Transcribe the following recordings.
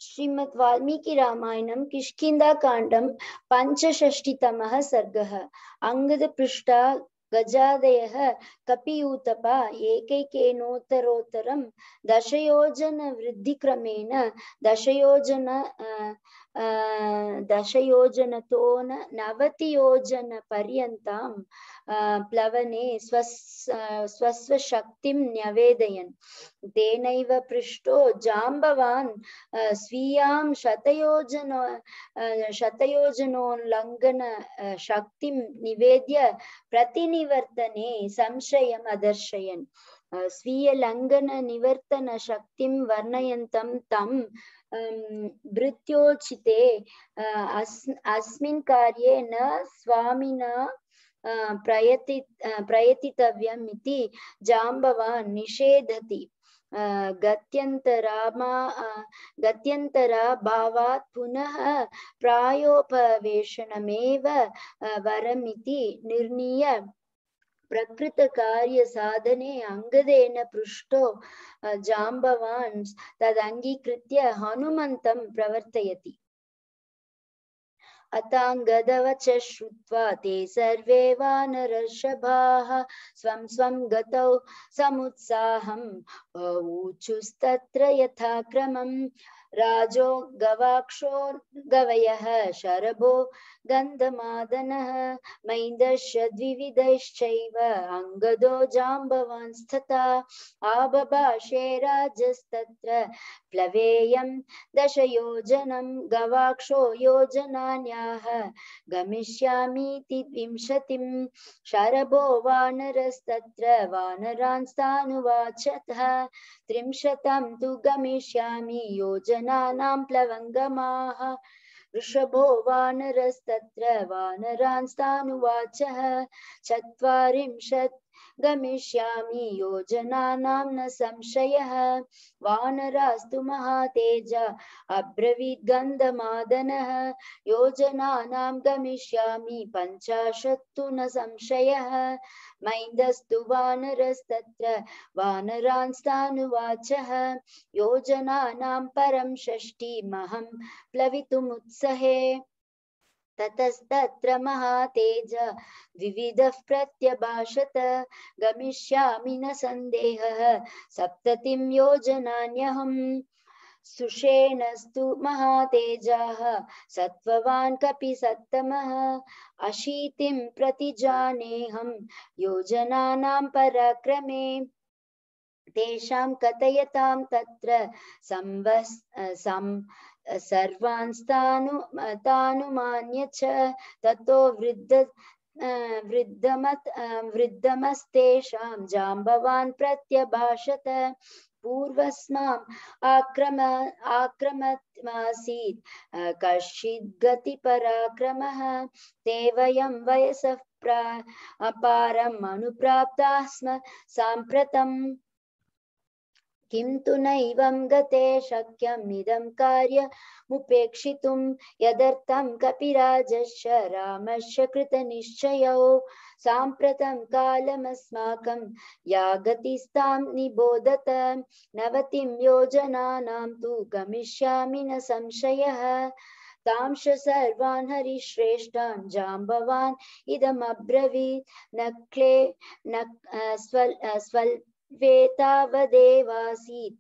श्रीमद् वाल्मीकि रामायणं किष्किन्धाकाण्डं पञ्चषष्टितमः सर्गः। अंगदपृष्ठा गजादयः कपियूतपा एकैकेनोत्तरोत्तरं दशयोजनवृद्धिक्रमेण दशयोजनतो नवतियोजनपर्यन्तं प्लवने स्वस्वशक्तिं न्यवेदयन्। तेनैव पृष्टो जाम्बवान् स्वीयां शतयोजनोल्लङ्घन शक्तिं निवेद्य प्रतिनिवर्तने संशयम् अदर्शयन्। स्वीय लङ्घन निवर्तन शक्तिं वर्णयन्तं तं भृत्योचिते अस्मिन् कार्ये न स्वामिना प्रयतितव्यम् इति जाम्बवान् निषेधति। गत्यन्तराभावात् पुनः प्रायोपवेशनमेव वरमिति निर्णीय प्रकृतकार्यसाधने अंगदेन पृष्टो जाम्बवान् तदङ्गीकृत्य हनुमन्तं प्रवर्तयति। अताङ्गदवच श्रुत्वा ते सर्वे वानरर्षभाः स्वं स्वं गतौ समुत्साहं ऊचुस्तत्र यथाक्रमम्। राजो गवाक्षो गवयः शरभो गन्धमादनः मैन्दश्च द्विविधैश्चैव अंगदो जाम्बवांस्तथा। आबभाषे राजस्तत्र प्लवेयं दशयोजनं गवाक्षो योजनान्याः गमिष्यामीति 20। शरभो वानरस्तत्र वानरांस्तानुवाचतः 30 तु गमिष्यामि योजनानां प्लवङ्गमाः। वृषभो वानरस्तत्र वानरांस्तानुवाचः 40 गमिष्यामि योजनानां न संशयः। वानरास्तु महातेजा अब्रवीत् गन्धमादनः योजनानां गमिष्यामि 50 तु न संशयः। मैन्दस्तु वानरस्तत्र वानरांस्तानुवाचः योजनानां परं 60 प्लवितुमुत्सहे। ततस्तत्र महातेज विविधः प्रत्यभाषत गमिष्यामि न संदेहः 70 योजनान्यहम्। सुषेणस्तु महातेजाः सत्त्ववान् कपिसत्तमः 80 प्रतिजानेऽहं योजनानां पराक्रमे। तेषां कथयतां तत्र सर्वांस्तानुमान्य च ततो वृद्धमस्तेषां जाम्बवान् प्रत्यभाषत। पूर्वस्माम् आक्रमत्मासीत् कश्चिद्गतिपराक्रमः ते वयं वयसः पारम् अनुप्राप्ताः स्म साम्प्रतम्। किं तु नैवं गते शक्यम् इदं कार्यमुपेक्षितुं यदर्थं कपिराजश्च रामश्च कृतनिश्चयौ। साम्प्रतं कालमस्माकं या गतिस्तां निबोधत 90 योजनानां तु गमिष्यामि न संशयः। तांश सर्वान् हरिश्रेष्ठान् जाम्बवान् इदमब्रवीत् स्वल्पेतावदेवासीत्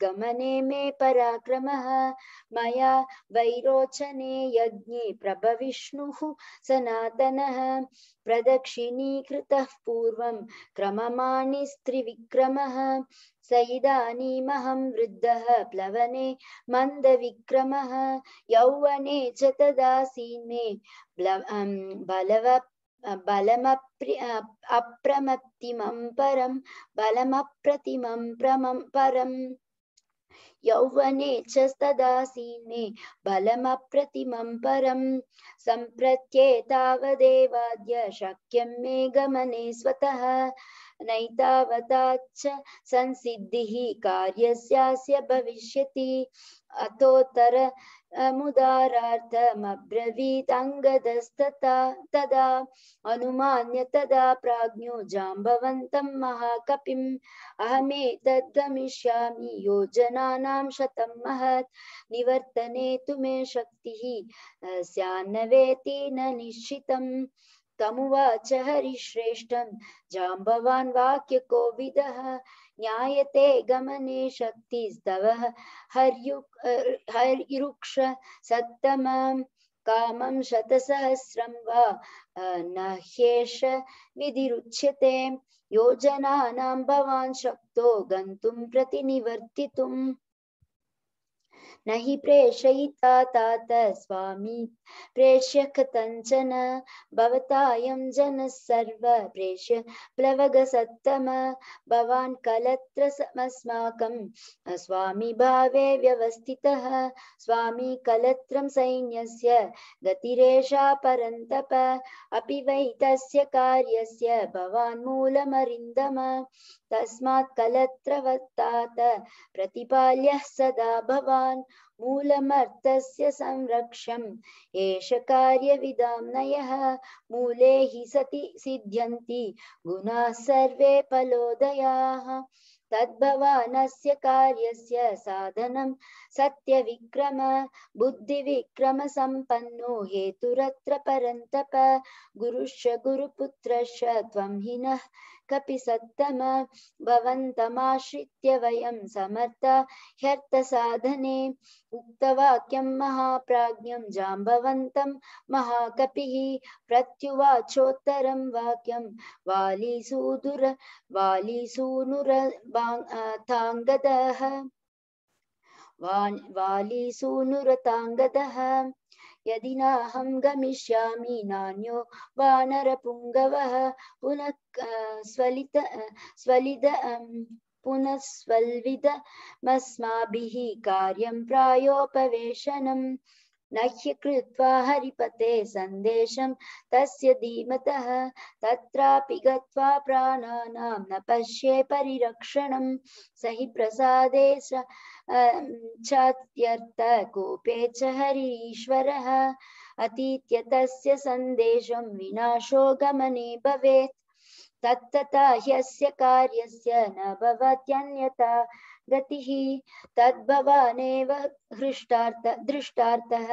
गमने मे पराक्रमः। मया वैरोचने यज्ञे प्रभविष्णुः सनातनः प्रदक्षिणीकृतः पूर्वं क्रममाणिस्त्रिविक्रमः। स इदानीमहं वृद्धः प्लवने मन्दविक्रमः यौवने च तदासीन्मे बलमप्रतिमं परम्। यौवने च तदासीन्मे बलमप्रतिमं परम्। सम्प्रत्येतावदेवाद्य शक्यं मे गमने स्वतः नैतावताच्च संसिद्धिः कार्यस्यास्य भविष्यति अतोत्तर मुदारार्थमब्रवीदङ्गदस्तथा तदा अनुमान्य तदा प्राज्ञो जाम्बवन्तं महाकपिम् अहमेतद्गमिष्यामि योजनानां शतं महत् निवर्तने तु मे शक्तिः स्यान्न वेति न निश्चितम् तमुवाच हरिश्रेष्ठं जाम्बवान् वाक्यकोविदः ज्ञायते गमने शक्तिस्तव हर्युक्ष सत्तमं कामं शतसहस्रं वा न ह्येष विधिरुच्यते योजनानां भवान् शक्तो गन्तुं प्रतिनिवर्तितुम् न हि प्रेषयिता तात स्वामी प्रेष्य कथञ्चन भवतायं जनः सर्व प्रेष्य प्लवगसत्तम भवान् कलत्रमस्माकं स्वामी भावे व्यवस्थितः स्वामी कलत्रं सैन्यस्य गतिरेषा परन्तप अपि वै तस्य कार्यस्य भवान् मूलमरिन्दम तस्मात् कलत्रवत्तात प्रतिपाल्यः सदा भवान् मूलमर्थस्य संरक्षम् एष कार्यविदाम्नयः मूले हि सति सिद्ध्यन्ति गुणाः सर्वे फलोदयाः तद्भवानस्य कार्यस्य साधनं सत्यविक्रम बुद्धिविक्रम सम्पन्नो हेतुरत्र परन्तप गुरुश्च गुरुपुत्रश्च त्वं हि नः कपि सत्तम भवन्तमाश्रित्य वयं समर्था ह्यर्थसाधने उक्तवाक्यं महाप्राज्ञं जाम्बवन्तं महाकपिः प्रत्युवाचोत्तरं वाक्यं वालीसूनुरताङ्गदः यदि नाहं गमिष्यामि नान्यो वानरपुङ्गवः पुनः स्वल्विदमस्माभिः कार्यं प्रायोपवेशनम् न ह्यकृत्वा हरिपते सन्देशं तस्य धीमतः तत्रापि गत्वा प्राणानां न पश्ये परिरक्षणं स हि प्रसादे चात्यर्थ कोपे च हरीश्वरः अतीत्य तस्य सन्देशं विनाशो गमने भवेत् तत्तथा ह्यस्य कार्यस्य न भवत्यन्यथा गतिः तद्भवानेव दृष्टार्थः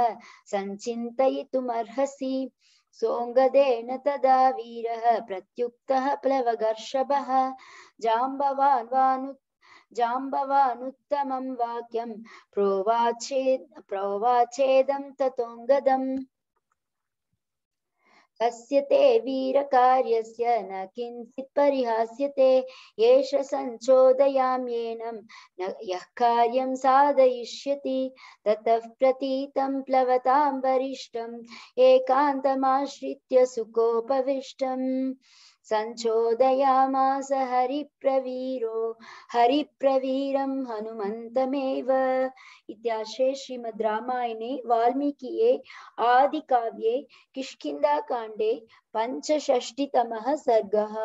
सञ्चिन्तयितुमर्हसि सोऽङ्गदेन तदा वीरः प्रत्युक्तः प्लवगर्षभः जाम्बवानुत्तमं वाक्यं प्रोवाचेदं ततोऽङ्गदम् तस्य ते वीरकार्यस्य न किञ्चित् परिहास्यते एष सञ्चोदयाम्येनं यः कार्यं साधयिष्यति ततः प्रतीतं प्लवतां वरिष्ठम् एकान्तमाश्रित्य सुखोपविष्टम् सञ्चोदयामास हरिप्रवीरं हनुमन्तमेव इत्याश्रे श्रीमद् रामायणे वाल्मीकिये आदिकाव्ये किष्किन्धाकाण्डे 65तमः सर्गः।